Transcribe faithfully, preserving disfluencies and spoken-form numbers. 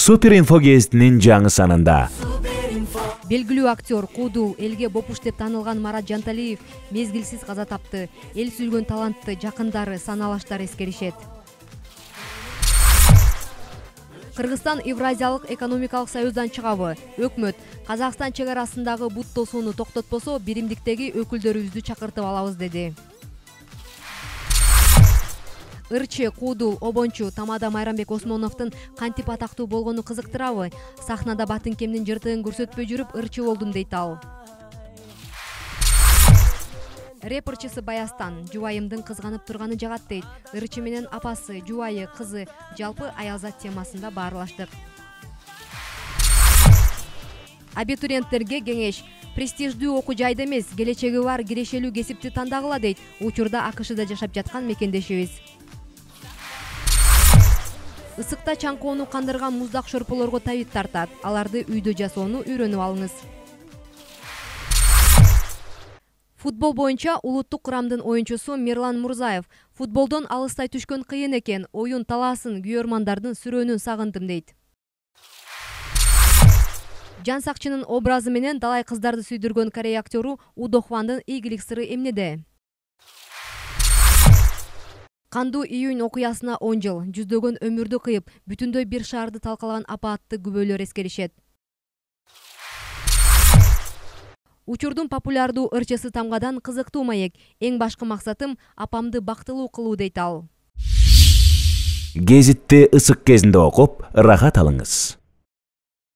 Супер инфо гезитинин жаңы санында. Белгилүү актер Куудул элге бопуш деп таанылган Марат Жанталиев мезгилсиз каза тапты. Эл сүйгөн талантты жакындары, саналаштар эскеришет. Кыргызстан Евразиялык экономикалык союздан чыгабы? Өкмөт Казакстан чек арасындагы бут тосууну токтотпосо, биримдиктеги өкүлдөрүбүздү чакыртып алабыз деди. Ырчы, Куудул, Обончу, Тамада Майрамбек Осмоновдун кантип атактуу болгону кызыктырабы? Сахнада Батынкемдин жыртыгын көрсөтпөй жүрүп ырчы болдум дейт ал. Рэперчиси Баястан жубайымдын кызганып турганы жагат дейт. Ырчы менен апасы, жубайы, кызы жалпы аялзат темасында баарлаштык. Абитуриенттерге кеңеш. Престиждүү окуу жайда эмес, келечеги бар кирешелүү кесипти тандагыла дейт учурда АКШда жашап жаткан мекендешибиз. Ысыкта чаңкоону кандырган муздак шорполорго табит тартат. Аларды үйдө жасоону үйрөнүп алыңыз. Футбол боюнча улуттук курамдын оюнчусу Мирлан Мурзаев футболдон алыстай түшкөн кыйын экен, оюн талаасын, күйөрмандардын сүрөөнүн сагындым дейт. Жан Сакчынын образы менен далай кыздарды сүйдүргөн Корея актеру Удо Хвандын ийгилик сыры эмнеде? Кандуу июнь окуясына он жыл, жүздөгөн өмүрдү кыйып, бүтүндөй бир шаарды талкалаган апаатты күбөлөр эскеришет. Учурдун популярдуу ырчысы Тамгадан кызыктуу маек. Эң башкы максатым апамды бактылуу кылуу дейт ал. Гезитти ысык кезинде окуп, рахат алыңыз.